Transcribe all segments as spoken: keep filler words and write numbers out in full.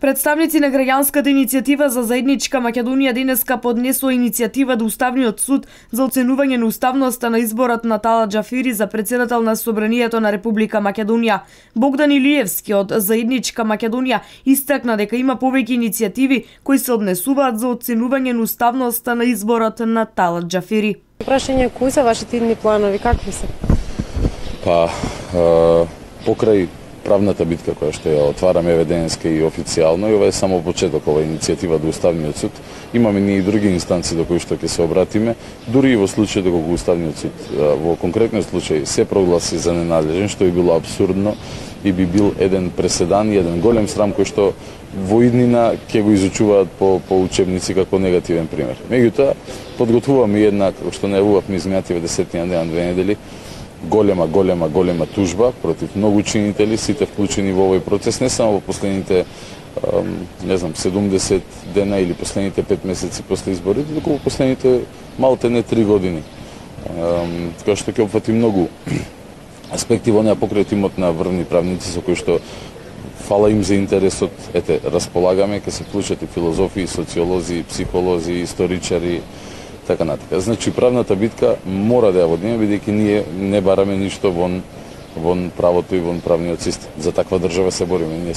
Представници на граѓанската иницијатива за заедничка Македонија денеска поднесоа иницијатива до Уставниот суд за оценување на уставноста на изборот на Талат Џафери за претседател на Собранието на Република Македонија. Богдан Илиевски од Заедничка Македонија истакна дека има повеќе иницијативи кои се однесуваат за оценување на уставноста на изборот на Талат Џафери. Прашање, кои се вашите идни планови, какви се? Па, е, покрај правната битка која што ја отвараме еве денеска и официјално, и ова е само почеток, ова иницијатива до Уставниот суд. Имаме ние и други инстанции до кои што ќе се обратиме, дури и во случај доколку Уставниот суд во конкретниот случај се прогласи за ненадлежен, што би било абсурдно и би бил еден преседан и еден голем срам кој што во иднина ќе го изучуваат по, по учебници како негативен пример. Меѓутоа, подготвуваме една, како што најавувавме изминативе десетина дена, две недели, голема, голема, голема тужба против многу учинители, сите вклучени во овој процес, не само во последните, не знам, седумдесет дена или последните пет месеци после изборите, туку во последните малте не три години. Така што ќе опфати многу аспекти во неа покрај тимот на врвни правници со кои што фала им за интересот, ете, располагаме, ќе се вклучат и филозофи, социолози, психолози, историчари, така натака. Значи, правната битка мора да ја водиме, бидејќи ние не бараме ништо вон, вон правото и вон правниот систем. За таква држава се бориме. Ние.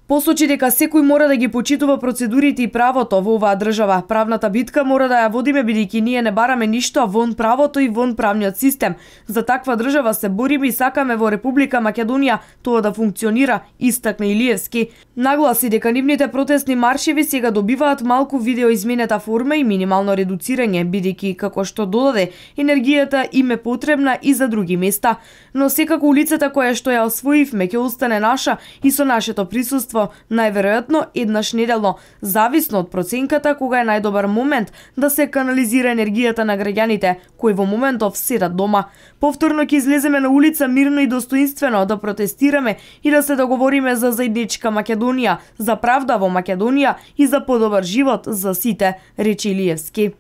Посочи дека секој мора да ги почитува процедурите и правото во оваа држава. Правната битка мора да ја водиме бидејќи ние не бараме ништо вон правото и вон правниот систем. За таква држава се бориме и сакаме во Република Македонија тоа да функционира, истакна Илиевски. Нагласи дека нивните протестни маршеви сега добиваат малку видеоизменета форма и минимално редуцирање, бидејќи како што додаде, енергијата им е потребна и за други места. Но секако улицата која што ја освоивме ќе остане наша и со нашето присуство најверојатно еднаш неделно, зависно од проценката кога е најдобар момент да се канализира енергијата на граѓаните кои во моментов седат дома. Повторно ќе излеземе на улица мирно и достоинствено да протестираме и да се договориме за заедничка Македонија, за правда во Македонија и за подобар живот за сите, рече Илиевски.